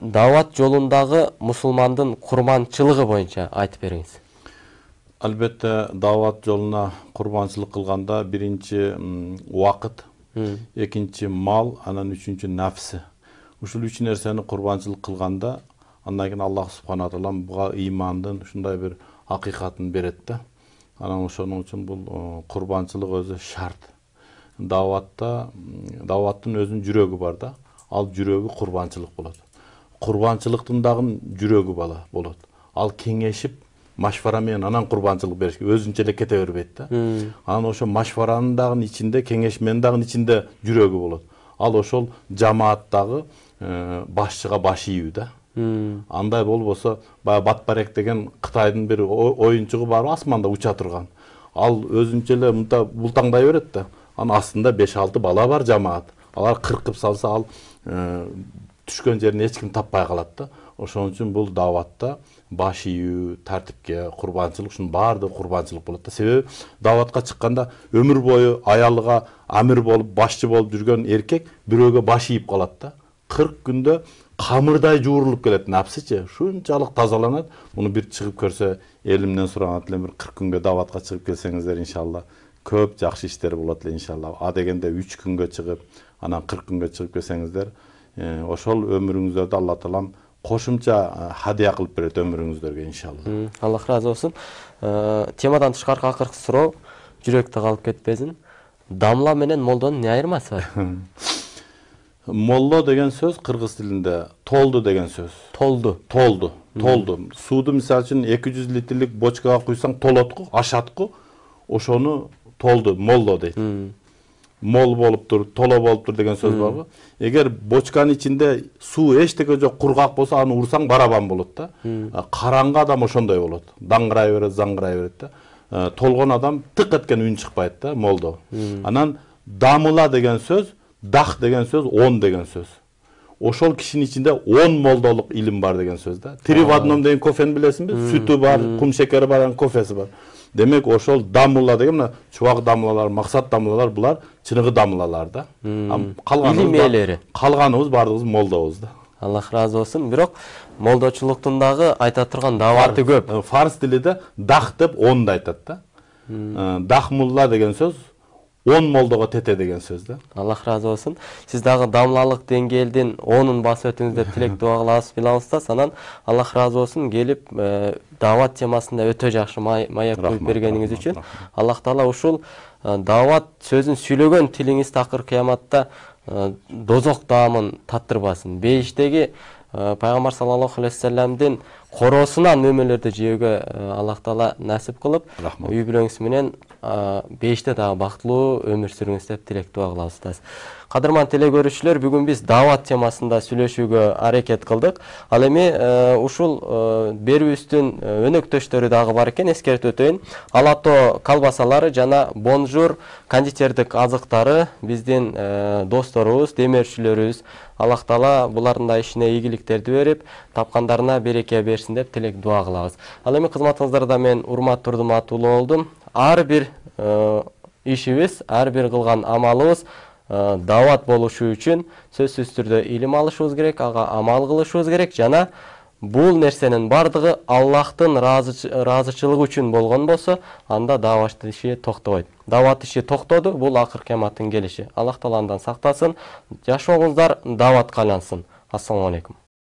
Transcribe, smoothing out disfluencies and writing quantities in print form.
Дават жолундагы мусулмандын курманчылыгы боюнча айтып бериңиз. Албетте, дават жолуна курбанчылык кылганда биринчи убакыт, экинчи мал, анан үчүнчү нафсы. Ушул үч нерсени курбанчылык кылганда, андан кийин Аллах субхана тағала буга ыймандын ушундай бир акыйкатын берет да. Анан ошону үчүн бул курбанчылык өзү шарт. Даваттын өзүнүн жүрөгү бар да. Ал жүрөгү курбанчылык болот. Курбанчылыктын дагы жүрөгү болот. Ал кеңешип, машвара менен анан курбанчылык бериш, өзүнчө эле кете бербейт да. Анан ошо машваранын дагы ичинде, кеңешменин дагы ичинде жүрөгү болот. Ал ошол жамааттагы башчыга баш ийүү да. Андай болбосо, баягы Батбарек деген Кытайдын бир оюнчугу бар, асманда уча турган. Ал өзүнчө эле мынта бултаңдай берет да. Анын астында 5-6 бала бар жамаат. Алар кыркып салса, ал түшкөн жерин эч ким таппай калат да. Ошон үчүн бул даватта баш ийүү, тартипке, курбанчылык, ушунун баардыгы курбанчылык болот да. Себеби даватка чыкканда өмүр бою аялыга амир болуп, башчы болуп жүргөн эркек бирөөгө баш ийип калат да. 40 күндө камырдай жуурулуп келет, напсычы, ушунчалык тазаланат. Муну бир чыгып көрсө, элимден сураганат элем, бир 40 күнгө даватка чыгып келсеңиздер, иншалла, көп жакшы иштер болот эле, иншалла. А дегенде 3 күнгө чыгып, анан 40 күнгө чыгып келсеңиздер, ошол өмүрүңүздөрдө Алла таалам кошумча хадия кылып берет өмүрүңүздөргө, иншалла. Аллах разы болсун. Темадан тышкары акыркы суроо, жүрөктө калып кетпесин. Дамла менен молдонун эмне айырмасы бар? Молло деген сөз кыргыз тилинде толду деген сөз. Толду. Сууду мисалы үчүн 200 литрлик бочкага куйсаң толотку, ашатку, ошону толду, молло дейт. Мол болуптур, толо болуптур деген сөз барбы? Эгер бочканын ичинде суу эчтеке жок, кургак болсо, аны урсаң барабан болот да. Караңгы адам ошондой болот. Даңгырай берет, заңгырай берет да. Толгон адам тык эткен үн чыкпайт да, молдо. Анан дамыла деген сөз, дах деген сөз, 10 деген сөз. Ошол кишинин ичинде 10 молдолук илим бар деген сөз да. 3 в 1 деген кофени билесиңби? Сүтү бар, кум шекери бар, кофеси бар. Демек ошол дамыла деген, мына чубак дамылалар, максат дамылалар, булар чыныгы дамылалар да. Илим ээлери. Калганыбыз бардыгыбыз молдобуз да. Аллах разы болсун. Бирок молдочулуктун дагы айта турган даваты көп. Фарс тилинде дах деп 10 да айтат да. Дахмулла деген сөз 10 молдого тете деген сөз да. Аллах разы болсун. Сиз дагы дамлалык деңгээлдин 10-ун басып өтүңүз деп тилек дуа кылабыз Билалыста. Анан Аллах разы болсун, келип дават темасында өтө жакшы маек коюп бергениңиз үчүн. Аллах таала ушул дават сөзүн сүйлөгөн тилиңиз такыр кыяматта дозок даамын таттырбасын. Бейиштеги Пайгамбар саллаллаху алейхи вассаламдын коросунан мөмөлөрдү жөөгө Аллах таала насип кылып, үй бүлөңүз менен бейиште дагы бактылуу өмүр сүрүңүз деп тилек дуа кылабыз. Кадырман теле көрүүчүлөр, бүгүн биз дават темасында сүйлөшүүгө аракет кылдык. Ал эми ушул берүүбүздүн өнөктөштөрү дагы бар экен, эскертип өтөйүн. Алато колбасалары жана Бонжур кондитердик азыктары биздин досторубуз, демөөрчүлөрүбүз. Аллах таала булардын да ишине ийгиликтерди берип, тапкандарына береке берсин деп тилек дуа кылабыз. Ал эми кызматыңыздарда мен Урмат Турдуматулуу болдум. Ар бир ишибиз, ар бир кылган амалыбыз дават болушу үчүн сөзсүз түрдө илим алышыбыз керек, ага амал кылышыбыз керек жана бул нерсенин бардыгы Аллахтын ыраазычылыгы үчүн болгон болсо, анда дават иши токтобойт. Дават иши токтоду, бул акыр кыяматтын келиши. Аллах таала андан сактасын. Жашооңуздар даватка айлансын. Ассаламу алейкум.